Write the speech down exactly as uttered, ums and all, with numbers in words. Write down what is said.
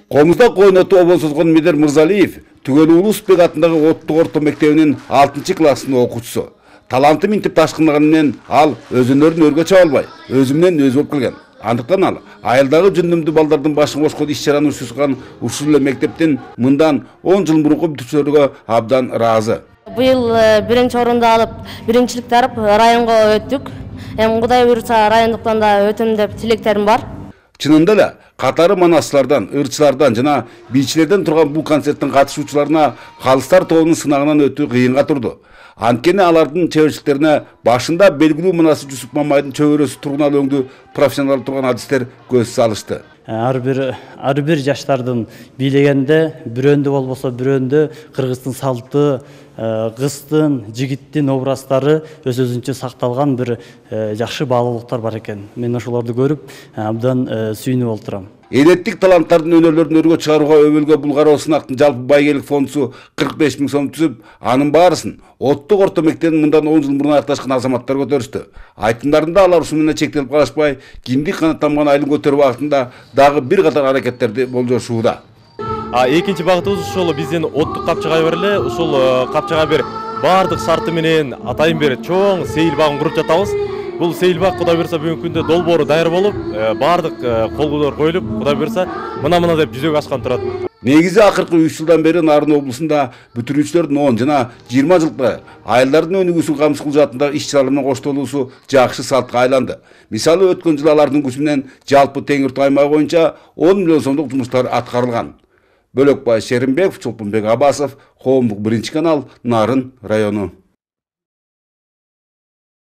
Комуздак ойноту обонсозгон Медер Мырзалиев Түгөл Улусбек атындагы Оттук орто мектебинин алтынчы класстын окуучусу. Таланты минтип ташкындаганы менен ал өзүнөрүн өргө чаба албай, өзү менен өзү болуп келген. Андыктан ал айылдагы жүндүмдүү балдардын башын кошкон иш-чараны уюштурган ушул эле мектептин мындан он жыл мурунку бүтүүчүлөрүгө абдан ыраазы. Быйыл биринчи орунду алып, биринчиликти алып районго өттүк. Эми Кудай буйрса райондуктан да өтөм деп тилектерим бар. Чынында эле катары манасчылардан, ырчылардан жана бийчилерден турган бул концерттин катышуучуларына калыстар тобунун сынагынан өтүү кыйынга турду. Анткени алардын чеберчиликтерине башында белгилүү манасы Жусуп Мамайдын чөбөрөсү тургунал өңдүү профессионал турган адистер көз салышты. Ар бир ар бир жаштардын бийлегенде бирөөндө болбосо бирөөндө кыргыздын салты, кыздын, жигиттин образдары өз өзүнчө сакталган бир жакшы баалуулуктар бар экен. Мен ошолорду көрүп абдан сүйүнүп олтурам. Элеттик таланттардын өнөрлөрүн өргө чыгарууга өбөлгө Булгария сынактын жалпы байгелик фондусу кырк беш миң сом түзүп, анын баарысын Оттук орто мектебин мындан он жыл мурун аякташкан азаматтар көтөрүштү. Айтымдарында алар ушуну менен чектелип калышпай, кимдик канаттанган айылын көтөрүү багытында дагы бир катар аракеттерди болжошууда. А экинчи багытыбыз ушул биздин Оттук капчага бер эле, ушул капчага бер баардык шарты менен атайын бер чоң сейил багын куруп жатабыз. Бул сейил баг Кудай буйрса бүгүнкү күндө долбоору даяр болуп, баардык колгулар коюлуп, Кудай буйрса мына-мына деп жүзөгө ашкан турат. Негизи акыркы үч жылдан бери Нарын облусунда бүтүрүүчүлөрдүн он жана жыйырма жылкы айылдардын өнүгүүсүн камсыз кылуу жаатындагы иш-чараларына коштолуусу жакшы салтка айланды. Мисалы өткөн жылы алардын күчү менен жалпы Теңиртау аймагы боюнча он миллион сомдук жумуштар аткарылган. Бөлөкбай Шеримбеков, Чолпонбек Абасов, Коомдук биринчи канал, Нарын району.